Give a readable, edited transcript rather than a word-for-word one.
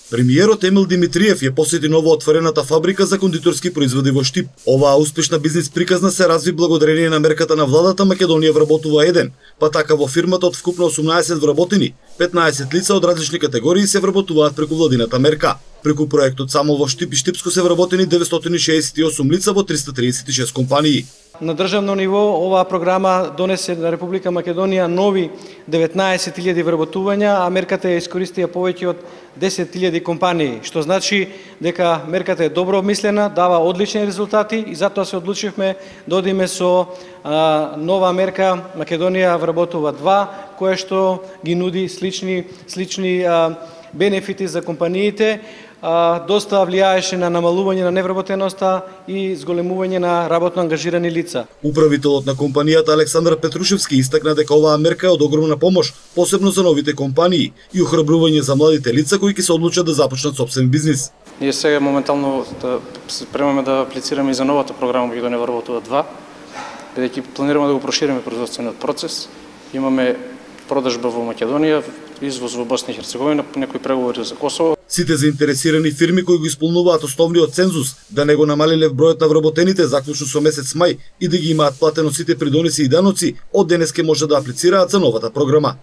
Премиерот Емил Димитриев ја посети новоотворената фабрика за кондиторски производи во Штип. Оваа успешна бизнис приказна се разви благодарение на мерката на владата Македонија вработува 1, па така во фирмата од вкупно 18 вработени, 15 лица од различни категории се вработуваат преку владината мерка. Преку проектот само во Штип и Штипско се вработени 968 лица во 336 компании. На државно ниво оваа програма донесе на Република Македонија нови 19.000 вработувања, а мерката ја искористија повеќе од 10.000 компании, што значи дека мерката е добро обмислена, дава одлични резултати и затоа се одлучивме да одиме со нова мерка Македонија вработува 2, кое што ги нуди слични бенефити за компаниите, доста влијаеше на намалување на невработеноста и зголемување на работно ангажирани лица. Управителот на компанијата Александар Петрушевски истакна дека оваа мерка е од огромна помош, посебно за новите компании и охрабрување за младите лица кои ќе се одлучат да започнат собствен бизнис. Ние сега моментално се премаме да аплицираме и за новата програма Македонија вработува 2, бидејќи планираме да го прошириме производствениот процес. Имаме продажба во Македонија, извоз во Босна и Херцеговина, некои преговори за Косово. Сите заинтересирани фирми кои го исполнуваат основниот цензус да не го намалиле бројот на вработените заклучно со месец мај и да ги имаат платено сите придоноси и даноци, од денес ке може да аплицираат за новата програма.